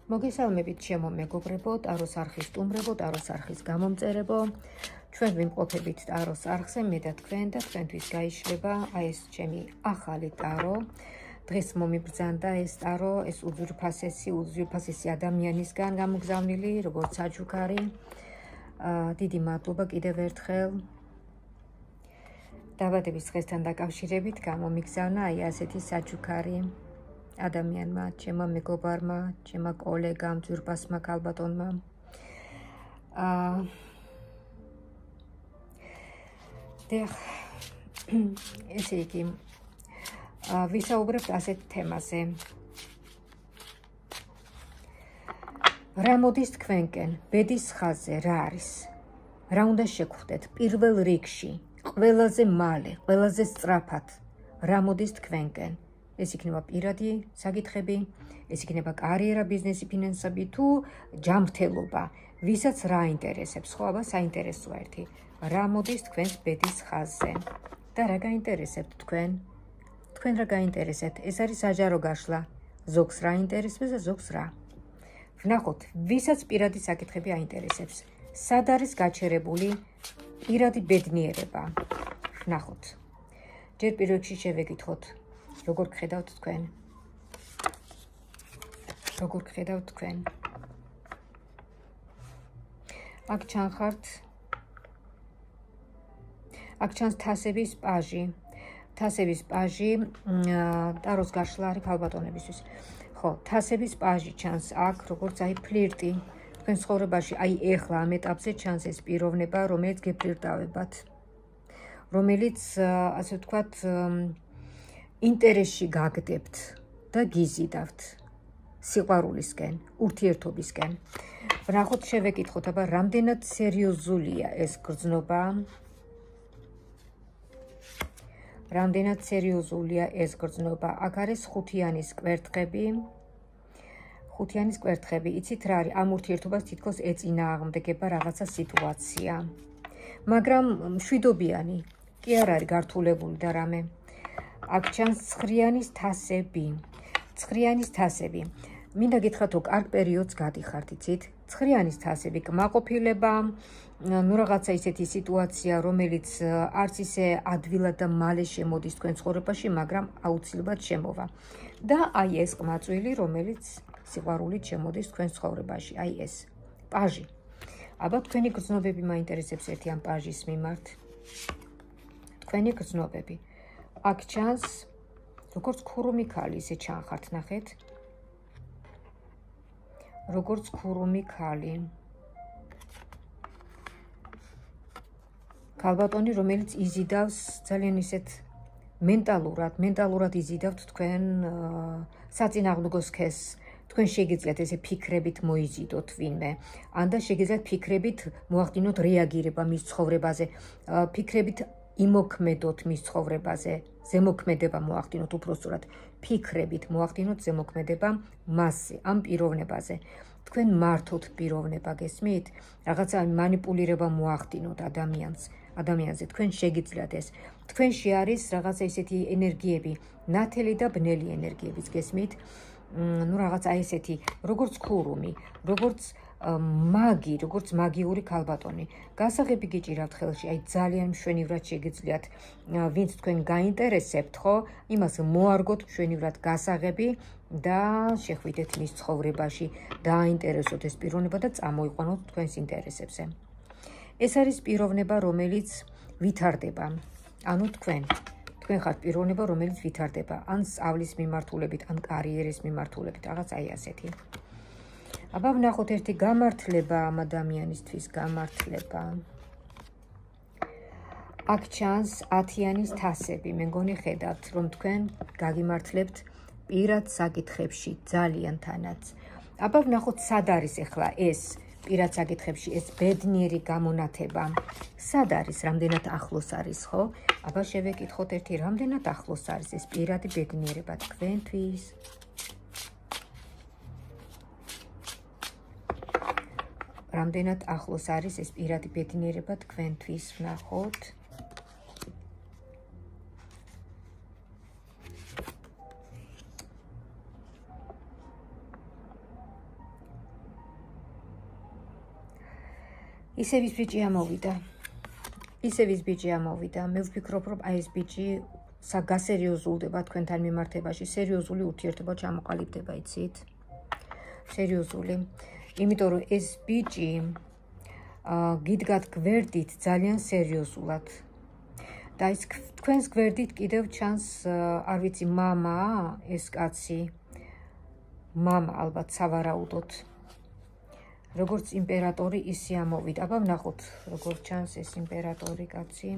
მოგესალმებით ჩემო მეგობრებო, ტაროს არხის სტუმრებო, ტაროს არხის გამომწერებო. ჩვენ ვიმყოფებით ტაროს არხზე, მე და თქვენ და თქვენთვის გაიშლება აი ეს ჩემი ახალი ტარო. დღეს მომიბრძანდა ეს ტარო, ეს უძვირფასესი ადამიანისგან გამოგზავნილი, როგორც საჩუქარი. დიდი მადლობა კიდევ ერთხელ. დაბადების დღესთან დაკავშირებით გამომიგზავნა აი ასეთი საჩუქარი. ადამიანმა, ჩემმა მეგობარმა, ჩემმა კოლეგამ, ძვირფასმა ქალბატონმა. ესე იგი, ვისაუბრებთ ასეთ თემაზე. რა მოდის თქვენკენ, ბედის ხაზზე რა არის? რა უნდა შეგხვდეთ პირველ რიგში, ყველაზე მალე, ყველაზე სწრაფად? რა მოდის თქვენკენ? ეს იქნება პირადი საკითხები, ეს იქნება კარიერა, ბიზნესი, ფინანსები თუ ჯანმრთელობა, ვისაც რა აინტერესებს, ხო, აბა საინტერესოა ერთი. რა მოდის თქვენს ბედის ხაზზე და რა გაინტერესებთ თქვენ? თქვენ რა გაინტერესებთ? ეს არის საჯარო გაშლა. ზოგს რა აინტერესებს და ზოგს რა. ვნახოთ, ვისაც პირადი საკითხები აინტერესებს. სად არის გაჩერებული პირადი ბედნიერება? ვნახოთ. ჯერ პირველ რიგში შევეკითხოთ. როგორ გხედავთ თქვენ? როგორ გხედავთ თქვენ? აქ ჩანხართ. აქ ჩანს თასების პაჟი. თასების პაჟი ტაროს გაშლა არის ქალბატონებისთვის. ხო, თასების პაჟი ჩანს აქ, როგორც აი ფლირტი. თქვენ ცხოვრებაში აი ეხლა ამ ეტაპზე ჩანს ეს პიროვნება, რომელიც გეფლირტავებათ. რომელიც ასე ვთქვათ ინტერესში გაგდებთ და გიზიდავთ სიყვარულისკენ, ურთიერთობისკენ. ვნახოთ, შევეკითხოთ, აბა რამდენად სერიოზულია ეს გრძნობა? რამდენად სერიოზულია ეს გრძნობა? აქ არის ხუთიანის კვერთხები. ხუთიანის კვერთხები, იცით რა არის? ამ ურთიერთობას თითქოს ეწინააღმდეგება რაღაცა სიტუაცია. მაგრამ მშვიდობიანი, კი არ არის გართულებული და რამე. აქ ჩანს ცხრიანის თასები. ცხრიანის თასები. მინდა გითხრათ, რომ კარგ პერიოდს გადიხართ, იცით? ცხრიანის თასები, კმაყოფილება, ნუ რაღაცა ისეთი სიტუაცია, რომელიც არც ისე ადვილად და მალე შემოდის თქვენ ცხოვრებაში, მაგრამ აუცილებლად შემოვა. და აი ეს ყმაწვილი, რომელიც სიყვარულით შემოდის თქვენ ცხოვრებაში, აი ეს პაჟი. აბა თქვენი გრძნობები მაინტერესებს ერთი ამ პაჟის მიმართ. თქვენი გრძნობები. აქ ჩანს როგორც ქურუმი ქალი, ისე ჩანხართ, ნახეთ. როგორც ქურუმი ქალი. ქალბატონი, რომელიც იზიდავს ძალიან ისეთ მენტალურად იზიდავთ თქვენ საწინააღმდეგო სქესს. თქვენ შეგიძლიათ ესე ფიქრებით მოიზიდოთ ვინმე. ან და შეგიძლიათ ფიქრებით მოახდინოთ რეაგირება მის ცხოვრებაზე. ფიქრებით იმოქმედოთ მის ცხოვრებაზე, ზემოქმედება მოახდინოთ უпроსტურად, ფიქრებით მოახდინოთ ზემოქმედება მასზე, ამ პიროვნებაზე. თქვენ მართოთ პიროვნება, გესმით? რაღაცა მანიპულირება მოახდინოთ ადამიანზე, თქვენ შეგიძლიათ ეს. თქვენში არის რაღაცა ისეთი ენერგიები, ნათელი და ბნელი ენერგიებიც, გესმით? ნუ რაღაცა ესეთი, როგორც ქურუმი, როგორც მაგი, როგორც მაგიური ქალბატონი. გასაღები გიჭირავთ ხელში, აი ძალიან მშვენივრად შეგიძლიათ, ვინც თქვენ გაინტერესებთ, ხო? იმას მოარგოთ მშვენივრად გასაღები და შეხვიდეთ მის ცხოვრებაში, დააინტერესოთ ეს პიროვნება და წამოიყვანოთ თქვენს ინტერესებზე. ეს არის პიროვნება, რომელიც ვითარდება. ანუ თქვენ ხართ პიროვნება, რომელიც ვითარდება, ან სწავლის მიმართულებით, ან კარიერის მიმართულებით, რაღაც აი ასეთი. აბა ვნახოთ ერთი გამართლება ამ ადამიანისთვის, გამართლება. აქ ჩანს 10-იანის თასები. მე მგონი ხედავთ, რომ თქვენ გაგიმართლებთ პირად საკითხებში, ძალიან თანაც. აბა ვნახოთ, სად არის ახლა ეს პირად საკითხებში, ეს ბედნიერი გამონათება. სად არის, რამდენად ახლოს არის, ხო? აბა შევეკითხოთ ერთი, რამდენად ახლოს არის ეს პირადი ბედნიერება თქვენთვის? რამდენად ახლოს არის ეს პირადი ბედნიერება თქვენთვის? ვნახოთ. ისევ ის ბიჭი ამოვიდა. ისევ ის ბიჭი ამოვიდა. მე ვფიქრობ, რომ აი ეს ბიჭი გასერიოზულდება თქვენთან მიმართებაში, სერიოზული ურთიერთობა ჩამოყალიბდება, იცით? სერიოზული. იმიტომ რომ ეს ბიჭი გიდგათ გვერდით ძალიან სერიოზულად. და ის თქვენს გვერდით კიდევ ჩანს, არ ვიცი, მამა, ეს კაცი, მამა ალბათ სავარაუდოდ. როგორც იმპერატორი ისე ამოვიდა. აბა ვნახოთ, როგორ ჩანს ეს იმპერატორი კაცი.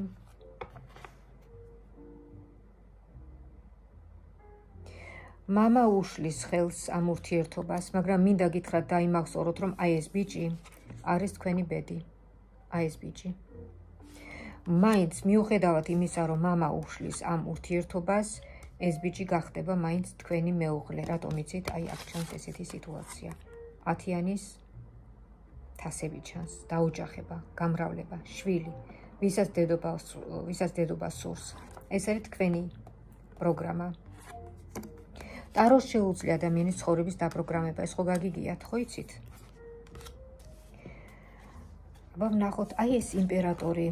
მამა უშლის ხელს ამ ურთიერთობას, მაგრამ მინდა გითხრათ დაიმახსოვროთ, რომ აი ეს ბიჭი არის თქვენი ბედი. აი ეს ბიჭი. მაინც მიუხედავად იმისა, რომ მამა უშლის ამ ურთიერთობას, ეს ბიჭი გახდება მაინც თქვენი მეუღლე. რატომ იცით? აი აქ ჩანს ესეთი სიტუაცია. 10-იანის თასები ჩანს, დაოჯახება, გამრავლება, შვილი, ვისაც დედობა სურს. ეს არის თქვენი პროგრამა. ტაროს შეუძლია ადამიანის ცხოვრების დაპროგრამება, ეს ხო გაგიგიათ, ხო იცით? აბა ვნახოთ, აი ეს იმპერატორი.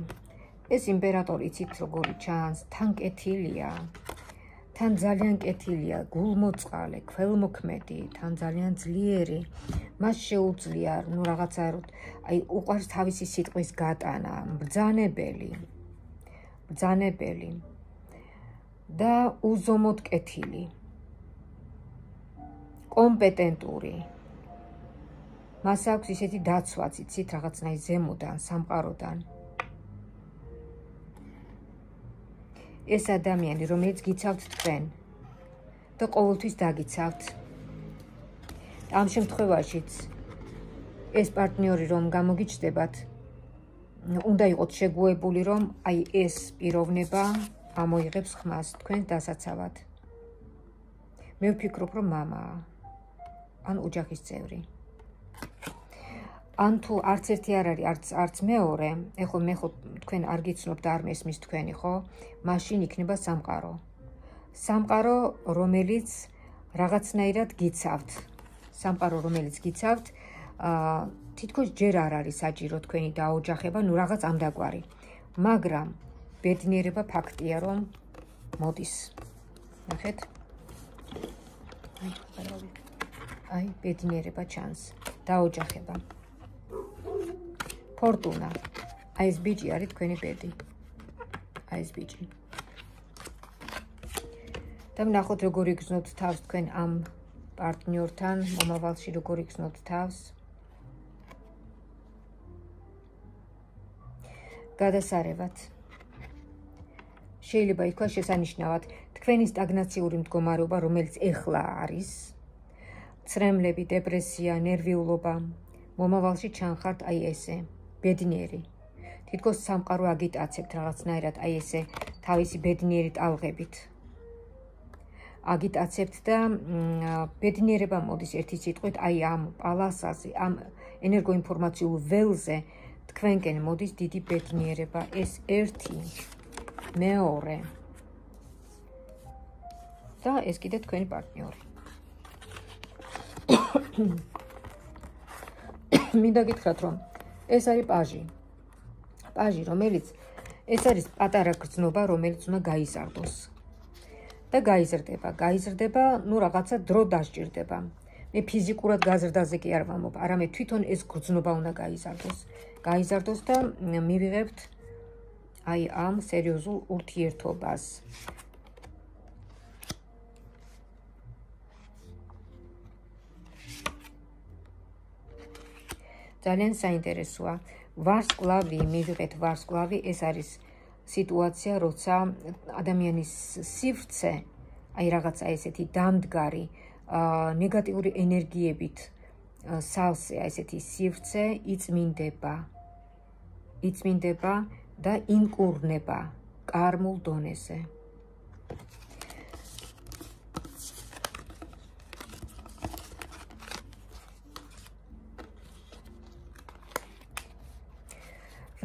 ეს იმპერატორი იცით როგორი ჩანს, თან კეთილია, თან ძალიან კეთილია, გულმოწყალე, ქველმოქმედი, თან ძალიან ძლიერი. მას შეუძლია, ნუ რაღაცა, აი უყვარს თავისი სიტყვის გატანა, ბრძანებელი და უზომოდ კეთილი, კომპეტენტური. მას აქვს ისეთი დაცვაც, იცით, რაღაცნაირ ზემოდან, სამყაროდან. ეს ადამიანი, რომელიც გიცავთ თქვენ და ყოველთვის დაგიცავთ. ამ შემთხვევაშიც ეს პარტნიორი რომ გამოგიჩნდებათ, უნდა იყოთ შეგუებული, რომ აი ეს პიროვნება ამოიღებს ხმას თქვენს დასაცავად. მე ვფიქრობ, რომ მამაა, ან ოჯახის წევრი. ან თუ არც ერთი არ არის, არც მეორე, ეხლა მე ხო თქვენ არ გიცნობ და არ მესმის თქვენი, ხო? მაშინ იქნება სამყარო. სამყარო, რომელიც რაღაცნაირად გიცავთ. სამყარო, რომელიც გიცავთ, თითქოს ჯერ არ არის საჭირო თქვენი დაოჯახება, ნუ რაღაც ამდაგვარი. მაგრამ ბედნიერება ფაქტია, რომ მოდის. ნახეთ? აი, ბედნიერება ჩანს, დაოჯახება. ფორტუნა. აი ეს ბიჭი არის თქვენი ბედი. აი ეს ბიჭი. და ვნახოთ როგორ იგრძნოთ თავს თქვენ ამ პარტნიორთან, მომავალში როგორ იგრძნოთ თავს. გადასარევად. შეიძლება ითქვას შესანიშნავად, თქვენი სტაგნაციური მდგომარეობა, რომელიც ეხლა არის, ცრემლები, დეპრესია, ნერვიულობა, მომავალში ჩანხართ აი ესე, ბედნიერი. თითქოს სამყარო აგიტაცებთ რაღაცნაირად აი ესე თავისი ბედნიერი ტალღებით. აგიტაცებთ და ბედნიერება მოდის ერთი სიტყვით, აი ამ პალასაზე, ამ ენერგოინფორმაციულ ველზე თქვენკენ მოდის დიდი ბედნიერება. ეს ერთი, მეორე და ეს კიდე თქვენი პარტნიორი. მინდა გითხრათ, რომ ეს არის პაჟი. პაჟი, რომელიც ეს არის პატარა გრძნობა, რომელიც უნდა გაიზარდოს. და გაიზრდება, ნუ რაღაცა დრო დასჭირდება. მე ფიზიკურად გაზრდაზე კი არ ვამბობ, არამედ თვითონ ეს გრძნობა უნდა გაიზარდოს და მივიღებთ აი ამ სერიოზულ ურთიერთობას. ძალიან საინტერესოა. ვარსკვლავი, მივიღეთ ვარსკვლავი, ეს არის სიტუაცია, როცა ადამიანის სივრცე, აი რაღაცა ესეთი დამდგარი, ნეგატიური ენერგიებით სავსე, ესეთი სივრცე იწმინდება და ინკურნება კარმულ დონეზე.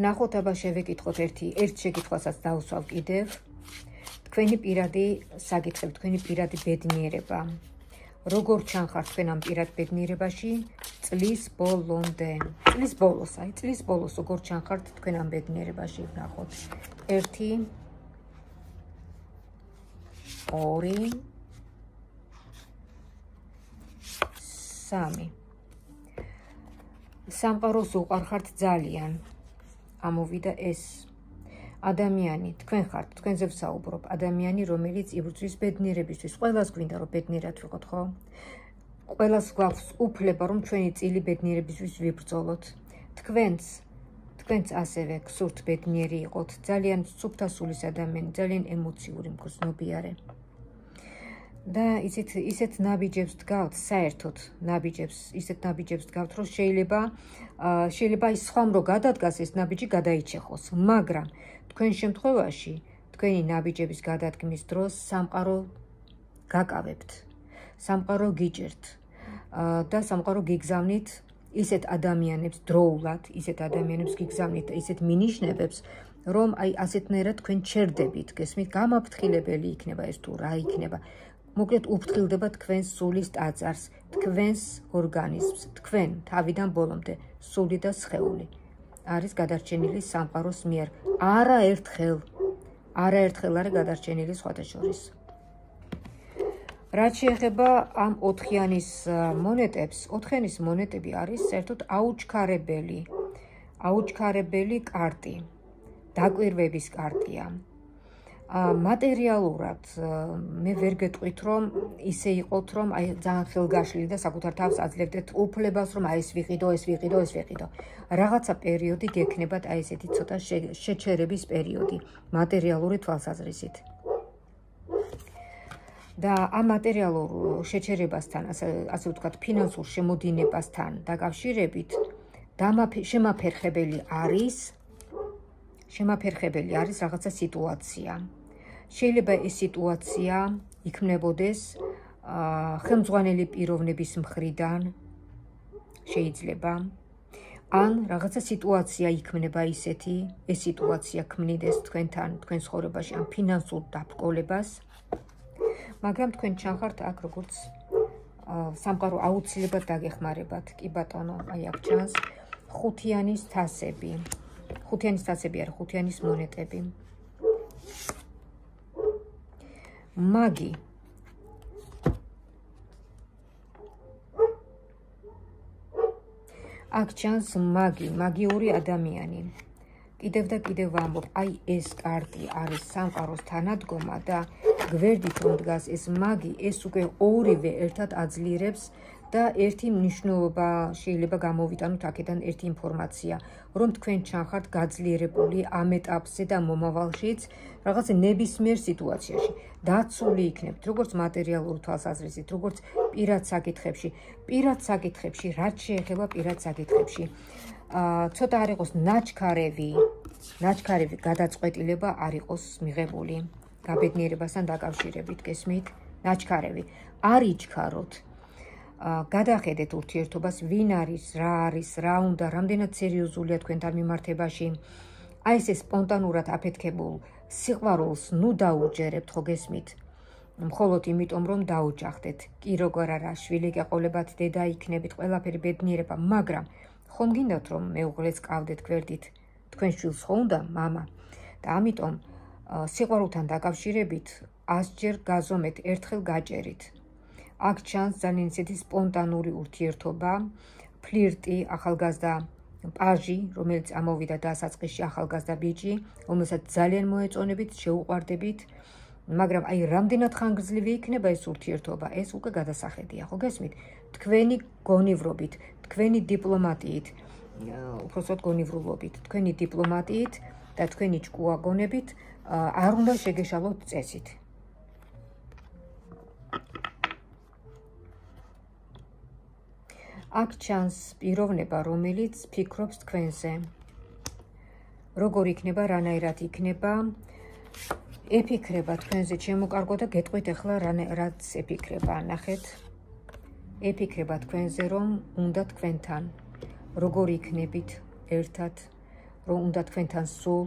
ვნახოთ, აბა შევეკითხოთ ერთ შეკითხვასაც დავუსვავ კიდევ. თქვენი პირადი საკითხები, თქვენი პირადი ბედნიერება. როგორ ჩანხართ თქვენ ამ პირად ბედნიერებაში? წლის ბოლომდე. წლის ბოლოს, აი წლის ბოლოს როგორ ჩანხართ თქვენ ამ ბედნიერებაში ვნახოთ. 1 2 3 სამყაროს უყარხართ ძალიან. ამოვიდა ეს ადამიანი, თქვენ ხართ, თქვენზე ვსაუბრობ, ადამიანი, რომელიც იბრძვის ბედნიერებისთვის. ყველას გვინდა რომ ბედნიერად ვიყოთ, ხო? ყველას გვაქვს უფლება რომ ჩვენი წილი ბედნიერებისთვის ვიბრძოლოთ. თქვენც ასევე გსურთ ბედნიერი იყოთ, ძალიან სუფთა სულის ადამიანი, ძალიან ემოციური, მგრძნობიარე. და ისეთ ნაბიჯებს დგავთ, საერთოდ ისეთ ნაბიჯებს დგავთ, რომ შეიძლება ის სხვამ რო გადადგას ეს ნაბიჯი გადაიჩეხოს, მაგრამ თქვენ შემთხვევაში თქვენი ნაბიჯების გადადგმის დროს სამყარო გაკავებთ, სამყარო გიჭერთ და სამყარო გიგზავნით ისეთ ადამიანებს დროულად, ისეთ ადამიანებს გიგზავნით ისეთ მინიშნებებს, რომ აი ასეთნაირად თქვენ ჩერდებით, გესმით, გამაფრთხილებელი იქნება ეს თუ რა იქნება. მოკლედ უფრთხილდება თქვენს სულის ტაძარს, თქვენს ორგანიზმს, თქვენ თავიდან ბოლომდე, სული და სხეული არის გადარჩენილი სამყაროს მიერ. არაერთხელ არის გადარჩენილი სხვათა შორის. რაც შეეხება ამ 4-იანის მონეტებს, 4-იანის მონეტები არის საერთოდ აუჩქარებელი კარტი, დაკვირვების კარტია. მატერიალურად მე ვერ გეტყვით რომ ისე იყოთ რომ აი ძალიან ხელგაშლილი და საკუთარ თავს აძლევდეთ უფლებას რომ აი ეს ვიყიდო. რაღაცა პერიოდი გექნებათ აი ესეთი ცოტა შეჩერების პერიოდი მატერიალური თვალსაზრისით. და ამ მატერიალურ შეჩერებასთან, ასე ვთქვათ, ფინანსურ შემოდინებასთან დაკავშირებით შემაფერხებელი არის რაღაცა სიტუაცია. შეიძლება ეს სიტუაცია იქმნებოდეს ხელმძღვანელი პიროვნების მხრიდან, შეიძლება, ან რაღაცა სიტუაცია იქმნება ისეთი, ეს სიტუაცია ქმნიდეს თქვენთან, თქვენ ცხოვრებაში ამ ფინანსურ დაბრკოლებას, მაგრამ თქვენ ჩანხართ აქ როგორც სამყარო აუცილებლად დაგეხმარებათ. კი ბატონო, აი აქ ჩანს 5-იანის თასები. 5-იანის თასები არის 5-იანის მონეტები. მაგი. აქ ჩანს მაგიური ადამიანი. კიდევ და კიდევ ვამბობ, აი ეს კარტი არის სამყაროს თანადგომა და გვერდით რომ დგას ეს მაგი, ეს უკვე ორივე ერთად აძლიერებს და ერთი მნიშვნელობა შეიძლება გამოვიტანოთ აქედან ერთი ინფორმაცია, რომ თქვენ ჩანხართ გაძლიერებული ამ ეტაპზე და მომავალშიც რაღაც ნებისმიერ სიტუაციაში დაცული იქნებით, როგორც მატერიალურ თვალსაზრისით, როგორც პირად საკითხებში, რაც შეეხება პირად საკითხებში. ცოტა არ იყოს ნაჩქარევი გადაწყვეტილება არ იყოს მიღებული გაბედნიერებასთან დაკავშირებით, გესმით? ნაჩქარევი არ იჩქაროთ. გადახედეთ ურთიერთობას, ვინ არის, რა უნდა, რამდენად სერიოზულია თქვენთან მიმართებაში. აი ეს სპონტანურად აფეთქებულ სიყვარულს ნუ დაუჯერებთ, ხო გესმით? მხოლოდ იმიტომ, რომ დაუჯახდეთ. კი როგორ არა, შვილი გეყოლებათ, დედა იქნებით, ყველაფერი ბედნიერება, მაგრამ ხომ გინდათ რომ მეუღლეს ყავდეთ გვერდით, თქვენ შვილს ხო უნდა, მამა? და ამიტომ სიყვარულთან დაკავშირებით 100-ჯერ გაზომეთ, ერთხელ გაჭერით. აქ ჩანს ძალიან ისეთი სპონტანური ურთიერთობა, ფლირტი, ახალგაზრდა პაჟი, რომელიც ამოვიდა დასაწყისში, ახალგაზრდა ბიჭი, რომელსაც ძალიან მოეწონებით, შეუყვარდებით, მაგრამ აი რამდენად ხანგრძლივი იქნება ეს ურთიერთობა, ეს უკვე გადასახედია, ხო გესმით? თქვენი გონივრობით, თქვენი დიპლომატიით, უпроსოდ გონივრულობით, თქვენი დიპლომატიით და თქვენი ჭკუაგონებით არ უნდა შეგეშალოთ წესით. აქ ჩანს პიროვნება, რომელიც ფიქრობს თქვენზე. როგორ იქნება, რანაირად იქნება, ეფიქრება თქვენზე, ჩემო კარგო და გეტყვით ახლა რაც ეფიქრება, ნახეთ. ეფიქრება თქვენზე, რომ უნდა თქვენთან, როგორ იქნებით ერთად, რომ უნდა თქვენთან სულ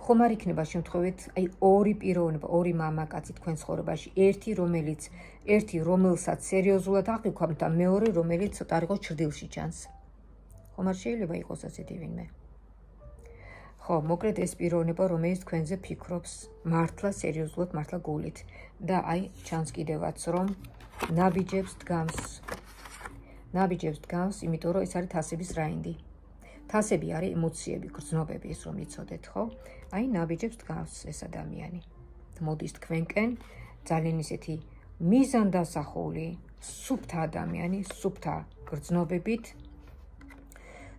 ხომ არ იქნება შემთხვევით აი ორი პიროვნება, ორი მამაკაცი თქვენ ცხოვრებაში, ერთი რომელსაც სერიოზულად აღიქვამთ და მეორე რომელიც ცოტა არ იყოს ჭრდილში ჩანს. ხომ არ შეიძლება იყოს ასეთი ვინმე? ხო, მოკლედ ეს პიროვნება, რომელიც თქვენზე ფიქრობს მართლა სერიოზულად, მართლა გულით და აი ჩანს კიდევაც რომ ნაბიჯებს დგამს, იმიტომ რომ ეს არის თასების რაინდი. თასები არის ემოციები, გრძნობები, ის რომ იცოდეთ, ხო? აი ნაბიჯებს დგამს ეს ადამიანი. მოდის თქვენკენ ძალიან ისეთი მიზანდასახული, სუფთა ადამიანი, სუფთა გრძნობებით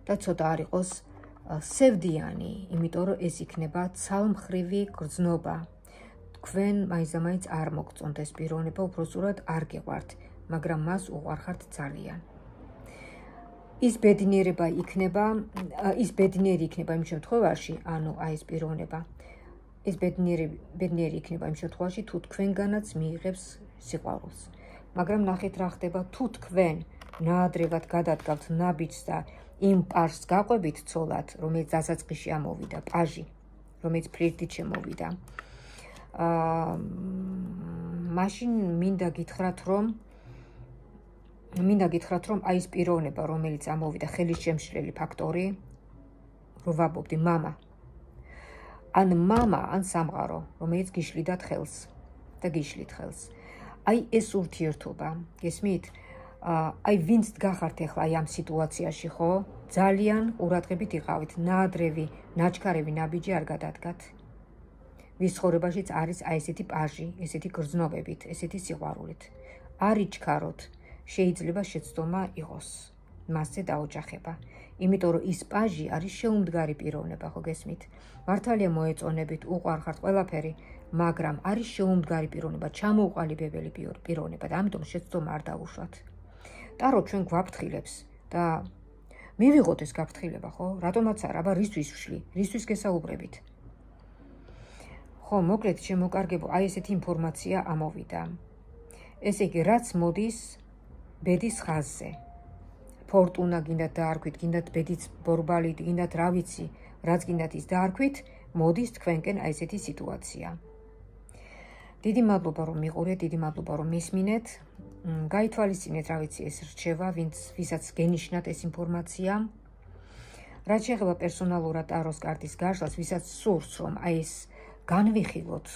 და ცოტა არ იყოს სევდიანი, იმიტომ რომ ეს იქნება ცალმხრივი გრძნობა. თქვენ მაინც არ მოგწონთ ეს პიროვნება, უბრალოდ არ გეყვართ, მაგრამ მას უყვარხართ ძალიან. ის ბედნიერი იქნება იმ შემთხვევაში, ანუ აი ეს პიროვნება. ის ბედნიერი იქნება იმ შემთხვევაში, თუ თქვენგანაც მიიღებს სიყვარულს. მაგრამ ნახეთ რა ხდება, თუ თქვენ ნაადრევად გადადგავთ ნაბიჯს და იმ პაჟს გაყვებით ცოლად, რომელიც დასაწყისში ამოვიდა, პაჟი, რომელიც ფლირტით შემოვიდა. მაშინ მინდა გითხრათ, რომ აი ეს პიროვნება, რომელიც ამოვიდა, ხელის შემშლელი ფაქტორი, რო ვაბობდი, მამა, ან სამყარო, რომელიც გიშლიდათ ხელს და გიშლით ხელს. აი ეს ურთიერთობა, გესმით? აი ვინც გახართ ახლა აი ამ სიტუაციაში, ხო? ძალიან ყურადღებით იყავით, ნაადრევი, ნაჩქარევი ნაბიჯი არ გადადგათ. ვის ცხოვრებაშიც არის აი ესეთი პაჟი, ესეთი გრძნობებით, ესეთი სიყვარულით. არ იჩქაროთ, შეიძლება შეცდომა იყოს, მასზე დაოჯახება. იმიტომ რომ ის პაჟი არის შეუმდგარი პიროვნება, ხო გესმით? მართალია მოეწონებით, უყვარხართ ყველაფერი, მაგრამ არის შეუმდგარი პიროვნება, ჩამოუყალიბებელი პიროვნება და ამიტომ შეცდომა არ დაუშვათ. ტარო ჩვენ გვაფრთხილებს და მივიღოთ ეს გაფრთხილება, ხო? რატომაც არა, აბა რისთვის ვშლი? რისთვის გესაუბრებით? ხო, მოკლედ შემოკარგებო, აი ესეთი ინფორმაცია ამოვიდა. ესე იგი, რაც მოდის ბედის ხაზზე. ფორტუნა გინდათ დაარქვით, გინდათ ბედიც ბორბალი, გინდათ რა ვიცი, რაც გინდათ ის დაარქვით, მოდის თქვენკენ აი ესეთი სიტუაცია. დიდი მადლობა რომ მიყურეთ, დიდი მადლობა რომ მისმინეთ. გაითვალისწინეთ, რა ვიცი, ეს რჩევა, ვისაც გენიშნათ ეს ინფორმაცია. რაც შეეხება პერსონალურად ტაროს კარტის გაშლას, ვისაც სურს რომ აი ეს განვიხილოთ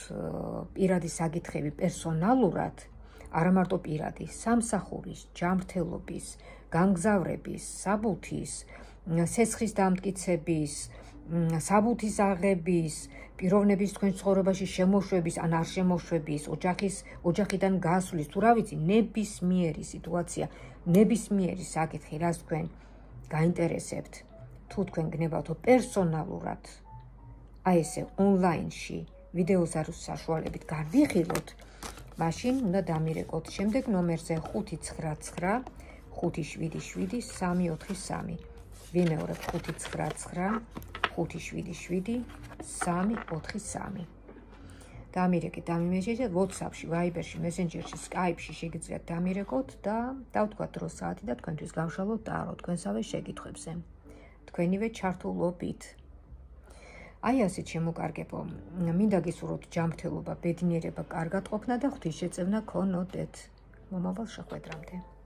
პირადი საკითხები პერსონალურად, არა მარტო პირადი, სამსახურის, ჯანმრთელობის, განგზავრების, საბუთის, სესხის დამტკიცების, საბუთის აღების, პიროვნების თქვენ ცხოვრებაში შემოშვების, ან არ შემოშვების, ოჯახიდან გასვლის, თუ რა ვიცი, ნებისმიერი სიტუაცია, ნებისმიერი საკითხი, რაც თქვენ გაინტერესებთ, თუ თქვენ გნებავთო პერსონალურად, აი ესე ონლაინში ვიდეოზარუს საშუალებით განვიხილოთ, მაშინ უნდა დამირეკოთ შემდეგ ნომერზე 599 577 343. ვიმეორებ 599 577 343. დამირეკეთ, დამიმეჯეთ WhatsApp-ში, Viber-ში, Messenger-ში, Skype-ში შეგიძლიათ დამირეკოთ და დავთქვათ დრო საათი და თქვენთვის გავშალოთ ტარო თქვენსავე შეკითხვებზე. თქვენივე ჩართულობით. აი ასეთ შემოკარგებო, მინდა გისურვოთ ჯანმრთელობა, ბედნიერება, კარგად ყოფნა და ღვთისშეწევნა გქონოდეთ. მომავალ შეხვედრამდე.